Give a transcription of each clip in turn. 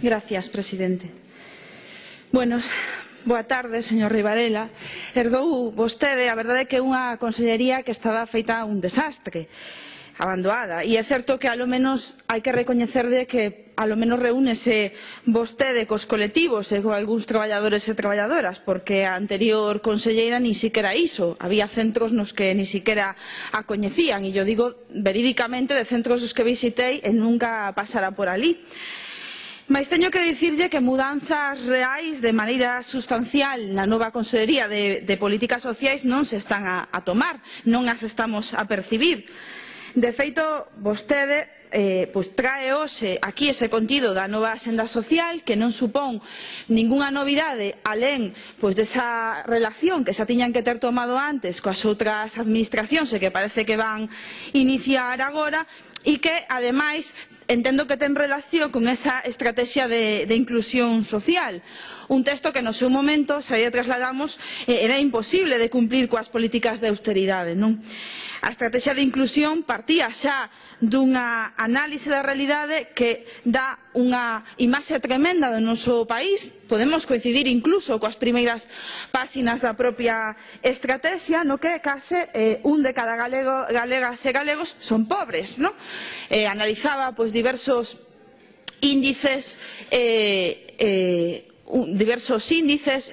Gracias, presidente. Bueno, boa tarde, señor Rivarela. Herdou vostede, a verdade é que é unha consellería que estaba feita un desastre, abandonada, e é certo que alo menos hai que recoñecerlle que alo menos reúnese vostede cos colectivos e con algúns traballadores e traballadoras, porque a anterior conselleira ni siquiera iso, había centros nos que ni siquiera a coñecían, e yo digo verídicamente de centros os que visitei e nunca pasara por alí. Mais teño que dicirlle que mudanzas reais de maneira sustancial na nova Consellería de Políticas Sociais non se están a tomar, non as estamos a percibir. De feito, vostede trae hoxe aquí ese contido da nova Axenda Social que non supón ningunha novidade alén desa relación que xa tiñan que ter tomado antes coas outras administracións e que parece que van iniciar agora, e que, ademais, entendo que ten relación con esa estrategia de inclusión social. Un texto que no seu momento, se lle trasladamos, era imposible de cumplir coas políticas de austeridade, non? A estrategia de inclusión partía xa dunha análise da realidade que dá unha imaxe tremenda do noso país. Podemos coincidir incluso coas primeiras páxinas da propia estrategia, no que case un de cada galegas e galegos son pobres, non? Analizaba diversos índices e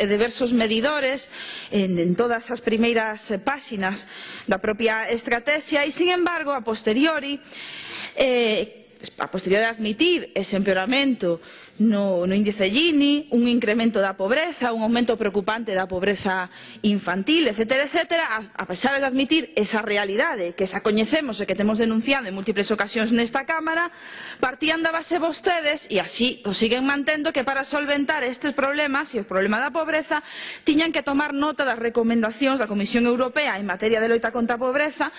diversos medidores en todas as primeiras páxinas da propia estrategia e, sin embargo, a posteriori de admitir ese empeoramento no índice Gini, un incremento da pobreza, un aumento preocupante da pobreza infantil, etcétera, etcétera, a pesar de admitir esa realidade que xa coñecemos e que temos denunciado en múltiples ocasións nesta Cámara, partían da base vostedes, e así o siguen mantendo, que para solventar estes problemas e o problema da pobreza tiñan que tomar nota das recomendacións da Comisión Europea en materia de loita contra a pobreza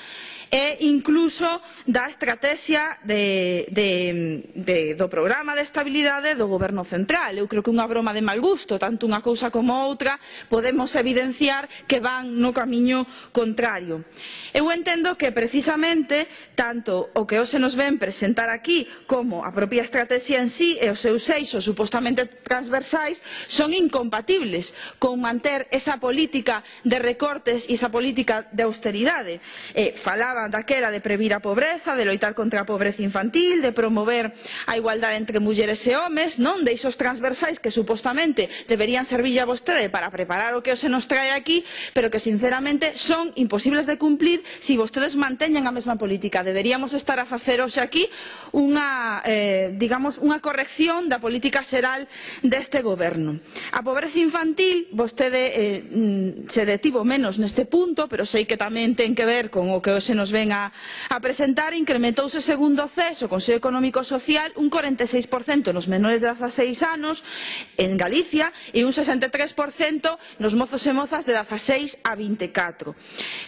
e incluso da estrategia do programa de estabilidade do Goberno Central. Eu creo que unha broma de mal gusto, tanto unha cousa como outra, podemos evidenciar que van no camiño contrario. Eu entendo que precisamente tanto o que hoxe nos ven presentar aquí como a propia estrategia en sí e os seus eixos supostamente transversais son incompatibles con manter esa política de recortes e esa política de austeridade. Falaban daquela de previr a pobreza, de loitar contra a pobreza infantil, de promover a igualdade entre mulleres e homes, non de eixos transversais que supostamente deberían servir a vostede para preparar o que hoxe nos trae aquí, pero que sinceramente son imposibles de cumplir se vostedes manteñen a mesma política. Deberíamos estar a facer hoxe aquí unha corrección da política xeral deste goberno. A pobreza infantil, vostede se detivo menos neste punto, pero sei que tamén ten que ver con o que hoxe nos ven a presentar. Incrementouse segundo o CES, o Consello Económico e Social, un 46% nos menores de 16 anos en Galicia e un 63% nos mozos e mozas de 16 a 24.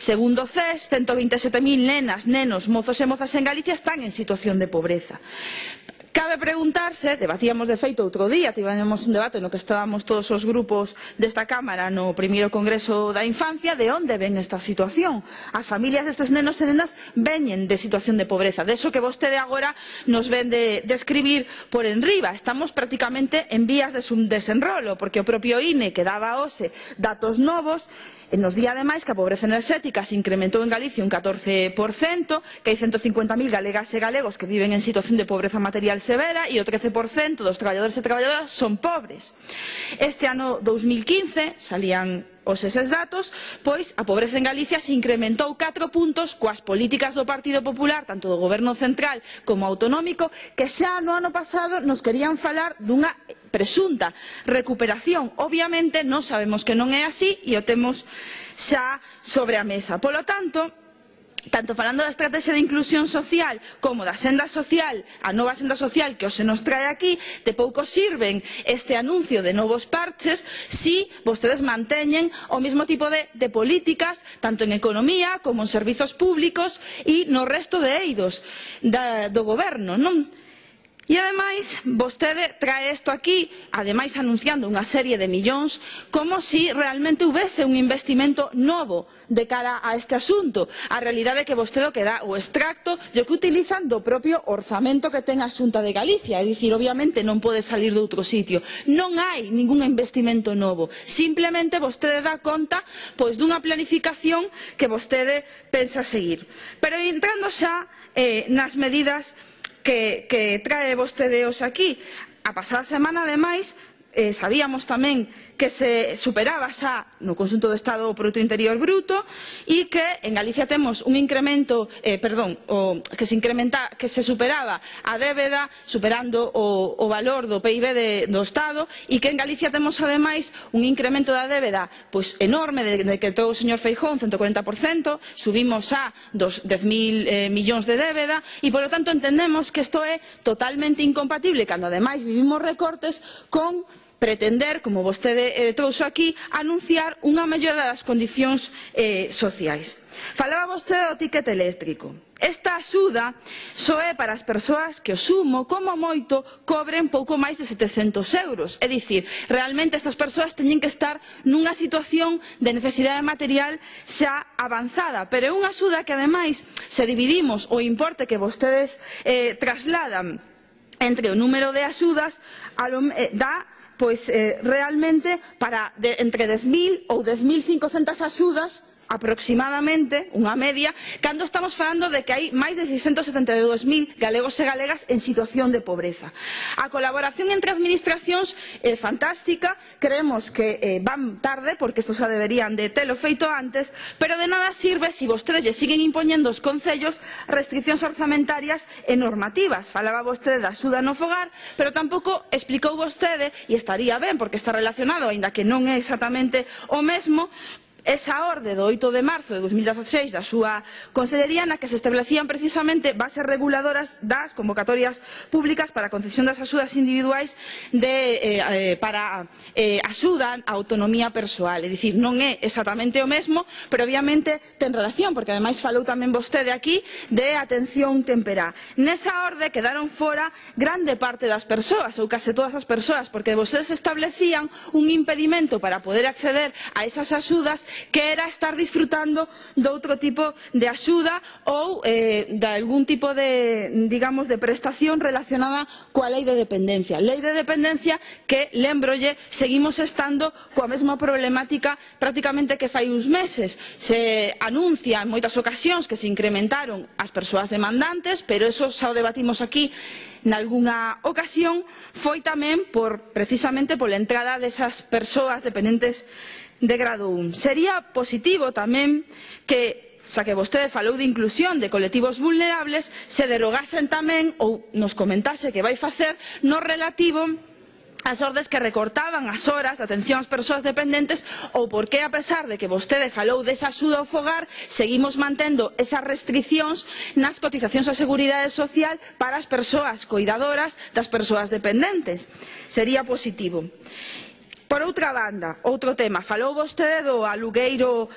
Segundo o CES, 127.000 nenas, nenos, mozos e mozas en Galicia están en situación de pobreza. Cabe preguntarse, debatíamos de feito outro día, tivemos un debate no que estábamos todos os grupos desta Cámara no primeiro Congreso da Infancia, de onde ven esta situación. As familias destes nenos e nenas veñen de situación de pobreza, de eso que vostede agora nos ven de escribir por enriba. Estamos prácticamente en vías de desenrolo, porque o propio INE, que daba hoxe datos novos, nos di ademais que a pobreza enerxética se incrementou en Galicia un 14%, que hai 150.000 galegas e galegos que viven en situación de pobreza material severa e o 13% dos traballadores e traballadoras son pobres. Este ano 2015 salían eses datos, pois a pobreza en Galicia se incrementou 4 puntos coas políticas do Partido Popular, tanto do Goberno Central como autonómico, que xa no ano pasado nos querían falar dunha presunta recuperación. Obviamente non sabemos que non é así e o temos xa sobre a mesa. Polo tanto, tanto falando da estrategia de inclusión social como da senda social, a nova senda social que hoxe nos trae aquí, de pouco sirven este anuncio de novos parches si vostedes manteñen o mesmo tipo de políticas tanto en economía como en servizos públicos e no resto de eidos do goberno, non? E, ademais, vostede trae isto aquí, ademais anunciando unha serie de millóns, como se realmente houvese un investimento novo de cara a este asunto. A realidade é que vostede o que dá o extracto e o que utilizan do propio orzamento que ten a Xunta de Galicia. É dicir, obviamente non pode salir de outro sitio. Non hai ningún investimento novo. Simplemente vostede dá conta dunha planificación que vostede pensa seguir. Pero entrando xa nas medidas que trae vostede hoxe aquí. A pasada semana, ademais, sabíamos tamén que se superaba xa no conxunto do Estado o Produto Interior Bruto e que en Galicia temos un incremento, que se superaba a débeda superando o valor do PIB do Estado e que en Galicia temos ademais un incremento da débeda enorme de que todo o señor Feijóo, un 140%, subimos a 10.000 millóns de débeda e polo tanto entendemos que isto é totalmente incompatible cando ademais vivimos recortes con pretender, como vostede trouxo aquí, anunciar unha mellora das condicións sociais. Falaba vostede do ticket eléctrico. Esta axuda só é para as persoas que o sumo, como moito, cobren pouco máis de 700 euros. É dicir, realmente estas persoas teñen que estar nunha situación de necesidade material xa avanzada. Pero é unha axuda que, ademais, se dividimos o importe que vostedes trasladan entre o número de axudas, dá realmente para entre 10.000 ou 10.500 axudas aproximadamente, unha media, cando estamos falando de que hai máis de 672.000 galegos e galegas en situación de pobreza. A colaboración entre administracións é fantástica, creemos que van tarde, porque isto xa deberían de telo feito antes, pero de nada sirve se vostedes lle siguen impoñendo aos concellos restriccións orzamentarias e normativas. Falaba vostede da axuda no fogar, pero tampouco explicou vostede, e estaría ben porque está relacionado, aínda que non é exactamente o mesmo, esa orde do 8 de marzo de 2016 da súa consellería na que se establecían precisamente bases reguladoras das convocatorias públicas para a concesión das axudas individuais para axuda á autonomía persoal. É dicir, non é exactamente o mesmo, pero obviamente ten relación, porque ademais falou tamén vostede aquí de atención temperá. Nesa orde quedaron fora grande parte das persoas, ou case todas as persoas, porque vostedes establecían un impedimento para poder acceder a esas axudas, que era estar disfrutando de outro tipo de axuda ou de algún tipo de, digamos, de prestación relacionada coa lei de dependencia. Lei de dependencia que, lembrolle, seguimos estando coa mesma problemática prácticamente que fai uns meses. Se anuncia en moitas ocasións que se incrementaron as persoas demandantes, pero eso xa o debatimos aquí nalgunha ocasión, foi tamén precisamente pola entrada desas persoas dependentes de grado 1. Sería positivo tamén que, xa que vostede falou de inclusión de colectivos vulnerables, se derogasen tamén ou nos comentase que vai facer no relativo as ordes que recortaban as horas de atención ás persoas dependentes ou por que, a pesar de que vostede falou desa axuda ao fogar, seguimos mantendo esas restriccións nas cotizacións á Seguridade Social para as persoas coidadoras das persoas dependentes. Sería positivo. Por outra banda, outro tema, falou vostede do alugueiro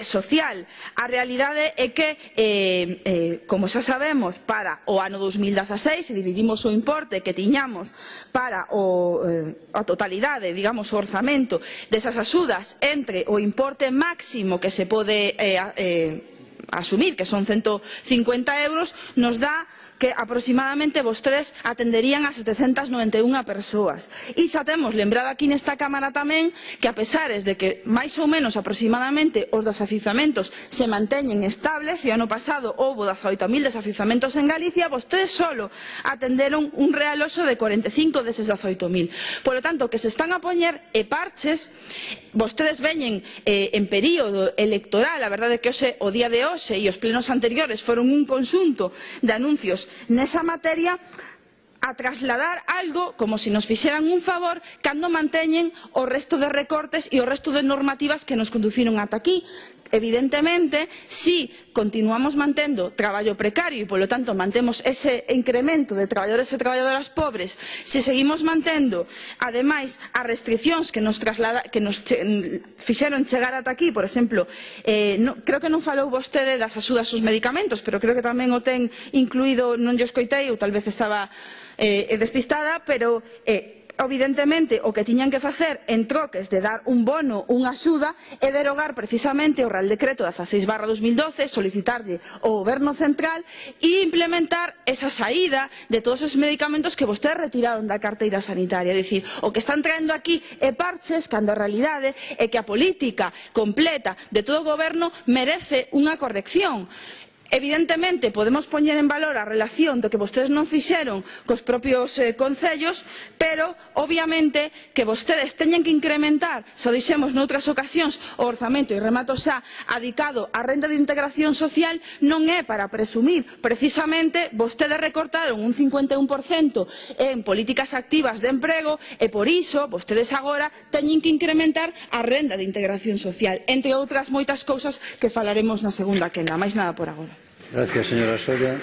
social. A realidade é que, como xa sabemos, para o ano 2016, se dividimos o importe que tiñamos para a totalidade, digamos, o orzamento desas axudas entre o importe máximo que se pode asumir, que son 150 euros, nos dá que aproximadamente vostedes atenderían a 791 persoas. E xa temos lembrado aquí nesta Cámara tamén que, a pesares de que máis ou menos aproximadamente os desafiuzamentos se manteñen estables, e o ano pasado houbo 18.000 desafiuzamentos en Galicia, vostedes solo atenderon un realoxo de 45 deses 18.000. Por lo tanto, que se están a poñer parches, vostedes veñen en período electoral, a verdade é que o día de hoxe e os plenos anteriores foron un conxunto de anuncios nesa materia, a trasladar algo como se nos fixeran un favor cando manteñen o resto de recortes e o resto de normativas que nos conduciron ata aquí. Evidentemente, si continuamos mantendo traballo precario e, polo tanto, mantemos ese incremento de traballadores e traballadoras pobres, se seguimos mantendo, ademais, as restriccións que nos fixeron chegar ata aquí, por exemplo, creo que non falou vostede das axudas aos medicamentos, pero creo que tamén o ten incluído, non lle escoitei, ou tal vez estaba despistada, pero evidentemente o que tiñan que facer en troques de dar un bono, unha axuda, é derogar precisamente o Real Decreto 16/2012, solicitarlle ao Goberno Central e implementar esa saída de todos os medicamentos que vostedes retiraron da carteira sanitaria. É dicir, o que están traendo aquí é parches, cando a realidade é que a política completa de todo o Goberno merece unha corrección. Evidentemente, podemos poñer en valor a relación do que vostedes non fixeron cos propios concellos, pero, obviamente, que vostedes teñen que incrementar, xa dixemos noutras ocasións, o orzamento, e remato xa, adicado á renda de integración social, non é para presumir. Precisamente, vostedes recortaron un 51% en políticas activas de emprego e, por iso, vostedes agora teñen que incrementar a renda de integración social, entre outras moitas cousas que falaremos na segunda quenda. Máis nada por agora. Gracias, señora Soria.